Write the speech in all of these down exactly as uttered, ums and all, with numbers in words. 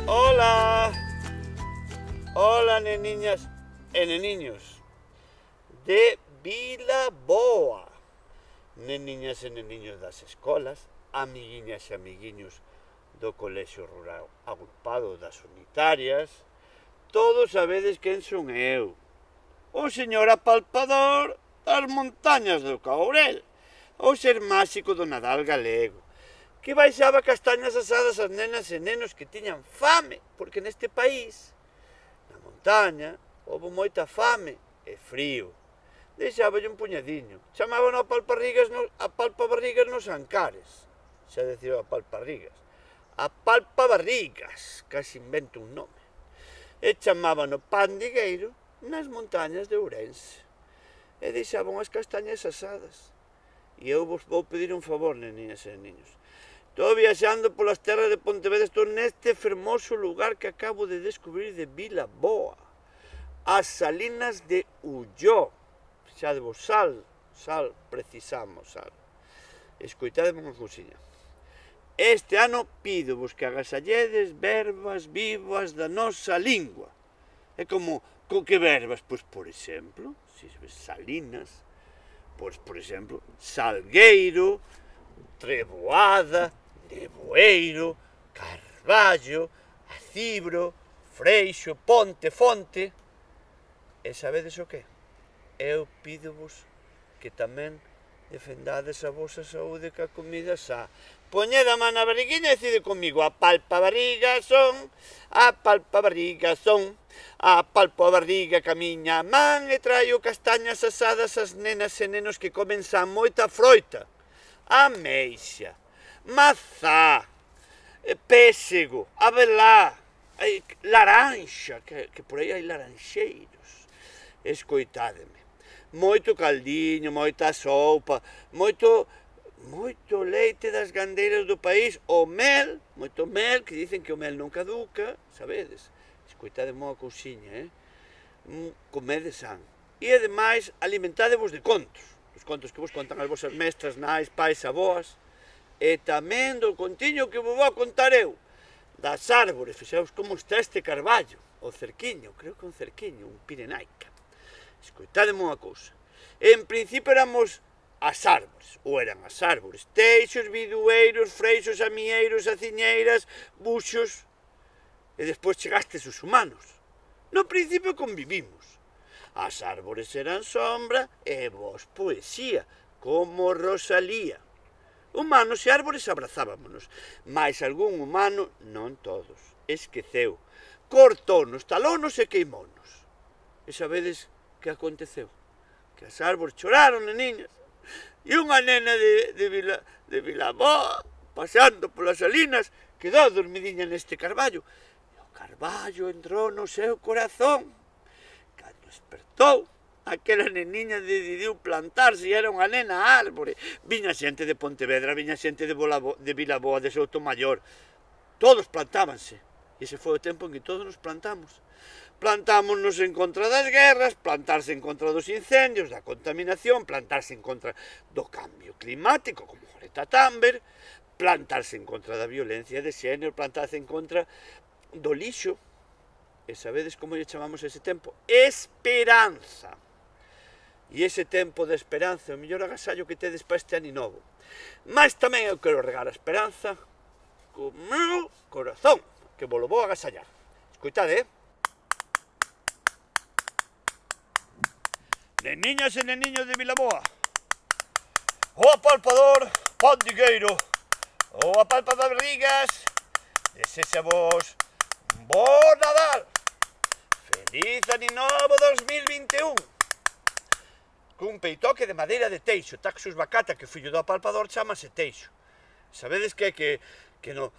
Hola, hola neniñas e neniños de Vilaboa, neniñas e neniños das escolas, amiguiñas e amiguiños do colexio rural agrupado das unitarias. Todos sabedes quen son eu, o señor apalpador das montañas do Caurel, o ser máxico do Nadal galego, que baixaba castañas asadas ás nenas e nenos que tiñan fame, porque neste país, na montaña, houve moita fame e frío. Deixáballe un puñadiño, chamábano a palparrigas no, a palpabarrigas nos Ancares, xa decía a palparrigas, a palpabarrigas, casi invento un nome, e chamábano pandigueiro nas montañas de Ourense, e deixaban as castañas asadas. E eu vos vou pedir un favor, neniñas e niños. Estou viaxando polas terras de Pontevedra, estou neste fermoso lugar que acabo de descubrir de Vilaboa, as salinas de Ulló. Xa de vos sal, sal, precisamos sal. Escoitademe unha cousiña. Este ano pídovos que agasalledes verbas vivas da nosa lingua. É como, co que verbas? Pois, por exemplo, se ves salinas, pois, por exemplo, salgueiro, treboada, neboeiro, carballo, acibro, freixo, ponte, fonte. E sabedes o que? Eu pídovos que tamén defendades a vosa saúde ca comida xa. Poñed a man na barriguinha e decide comigo: a palpa barriga son, a palpa barriga son, a palpo a barriga ca miña man e traio castañas asadas ás nenas e nenos que comen xa moita froita, ameixa, mazá, pésego, abelá, laranxa, que, que por aí hai laranxeiros. Escoitádeme, moito caldiño, moita sopa, moito, moito leite das gandeiras do país, o mel, moito mel, que dicen que o mel non caduca, sabedes? Escoitádeme unha cousiña, eh? Comedes san. E, ademais, alimentádevos de contos, os contos que vos contan as vosas mestras, nais, pais, aboas, e tamén do contiño que vos vou contar eu, das árbores. Fixeos como está este carballo, o cerquiño, creo que un cerquiño, un pirenaica. Escoitádeme unha cousa. En principio éramos as árbores, ou eran as árbores, teixos, bidueiros, freixos, amieiros, aciñeiras, buxos, e despois chegastes os humanos. No principio convivimos. As árbores eran sombra e vos poesía, como Rosalía. Humanos e árbores abrazábamonos, mais algún humano, non todos, esqueceu, cortounos, talónos e queimounos. E sabedes que aconteceu? Que as árbores choraron, neniñas, e unha nena de, de, Vila, de Vilaboa, pasando polas salinas, quedou dormidiña neste carballo, e o carballo entrou no seu corazón. Cando despertou, aquela neniña decidiu plantarse e era unha nena árbore. Viña xente de Pontevedra, viña xente de, Bolabo, de Vilaboa, de Soutomaior, todos plantábanse, e ese foi o tempo en que todos nos plantamos. Plantámonos en contra das guerras, plantarse en contra dos incendios, da contaminación, plantarse en contra do cambio climático, como Greta Thunberg, plantarse en contra da violencia de xénero, plantarse en contra do lixo. E sabedes como lle chamamos ese tempo? Esperanza. E ese tempo de esperanza é o mellor agasallo que tedes para este ano novo. Mas tamén eu quero regar a esperanza co meu corazón, que vos lo vou agasallar. Escoitade, eh? Neniñas e neniños de Vilaboa, o apalpador pandigueiro, o apalpabarrigas, desexa vos bo Nadal, feliz ano novo dos mil vinte e un, cun peitoque de madeira de teixo, Taxus bacata, que o fillo do apalpador chamase teixo. Sabedes que que, que no,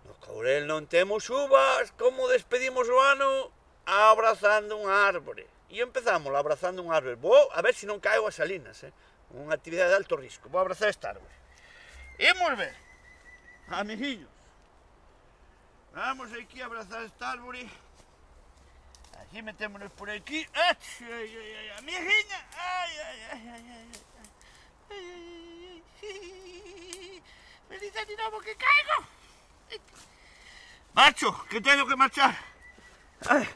no Caurel non temos uvas, como despedimos o ano? Abrazando un árbore. E empezamos abrazando un árbore. Vou a ver se non caio as salinas, eh? Unha actividade de alto risco. Vou abrazar esta árbore. Imos ver, amiguinhos. Vamos aquí a abrazar esta árbore. Aquí metémonos por aquí. Ai, ai, ai, ai, amiguinha. Ai, ai, ai, ai, ai, ai. Ai, ai, ai. Feliz ano novo que caigo. Macho, que tengo que marchar. Ay.